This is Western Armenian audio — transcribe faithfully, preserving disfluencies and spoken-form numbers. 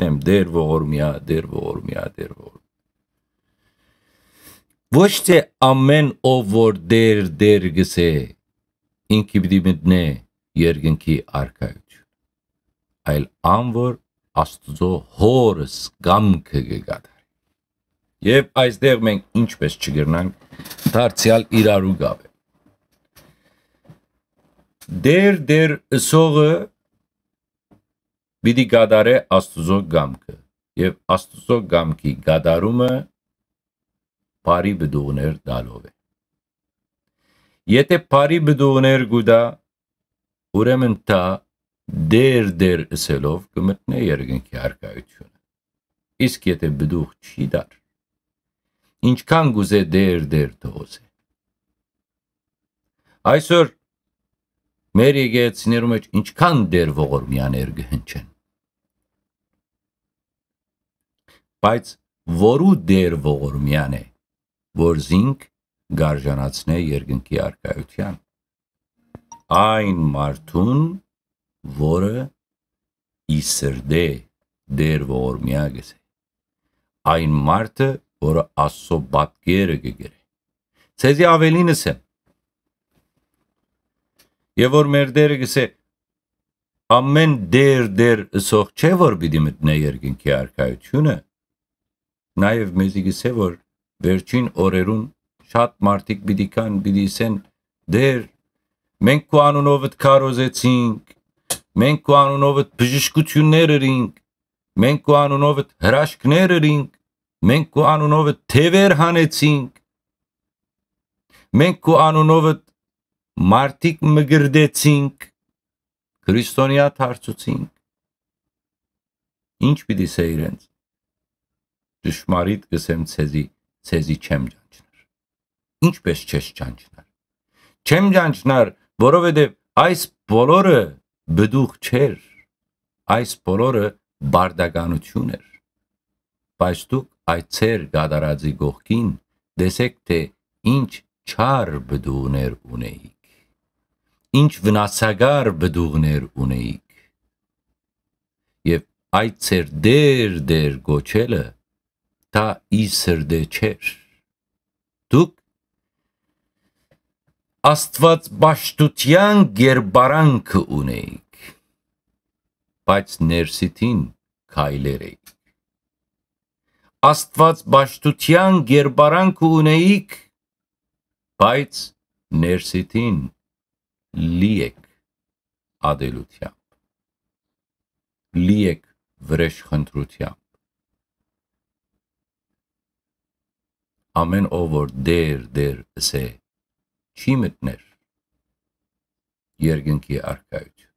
մտնեմ, Տէր ողորմեա, Տէր ողորմեա, Տէր ողորմեա։ Ոչ թէ ամէն ով որ Տէր, Տէր կ'ըսէ, ինքը պիտի մտնէ երկնքի արքայութիւն, այլ ան որ Աստուծոյ Հօրս կամքը կը կատարէ։ Եւ այստեղ մենք ինչպէս չկրնանք դարձեալ իրարու գաւել։ Տէր, Տէր ըսողը պիտի կատարէ Աստուծոյ կամքը, եւ Աստուծոյ կամքի կատարումը բարի պտուղներ տալով է։ Եթէ բարի պտուղներ կու տայ, ուրեմն դա Տէր, Տէր ըսելով կը մտնէ երկնքի արքայութիւնը։ Իսկ եթէ պտուղ չի տար, ինչքան կ'ուզէ Տէր, Տէր թող ըսէ։ Այսօր մեր եկեղեցիներու մէջ ինչքան Տէր ողորմեաներ կը հնչեն, բայց որու Տէր ողորմեան է, որ զինք կ'արժանացնէ երկնքի արքայութեան։ Այն մարդուն, որը ի սրտէ Տէր ողորմեա կ'ըսէ, այն մարդը, որը Աստուծոյ պատկերը կը կրէ։ Ձեզի աւելին ըսեմ, եւ որ մեր Տէրը կ'ըսէ, ամէն Տէր, Տէր ըսող չէ, որ պիտի մտնէ երկնքի արքայութիւնը, նաեւ մեզի կ'ըսէ, որ վերջին օրերուն շատ մարդիկ պիտի գան, պիտի ըսեն, Տէր, մենք քու անունովդ քարոզեցինք, մենք քու անունովդ բժշկութիւններ ըրինք, մենք քու անունովդ հրաշքներ ըրինք, մենք քու անունովդ թեւեր հանեցինք, մենք քու անունովդ մարդիկ մկրտեցինք, քրիստոնեայ դարձուցինք։ Ինչ պիտի ըսէ իրենց։ Ճշմարիտ կ'ըսեմ ձեզի, ձեզի չեմ ճանչնար։ Ինչպէս չես ճանչնար։ Չեմ ճանչնար, որովհետեւ այս բոլորը պտուղ չէր, այս բոլորը պարտականութիւն էր։ Բայց դուք այդ ձեր կատարածի կողքին տեսէք թէ ինչ չար պտուղներ ունէիք, ինչ վնասակար պտուղներ ունէիք։ Եւ այդ ձեր Տէր, Տէր կոչելը, դա ի սրտէ չէր։ Դուք Աստուածպաշտութեան կերպարանքը ունէիք, բայց ներսիդին քայլեր էիք։ Աստուածպաշտութեան կերպարանքը ունէիք, բայց ներսիդին լի էք ատելութեամբ, լի էք վրէժխնդրութեամբ։ Ամէն ով որ Տէր, Տէր ըսէ, չի մտներ երկնքի արքայութիւն։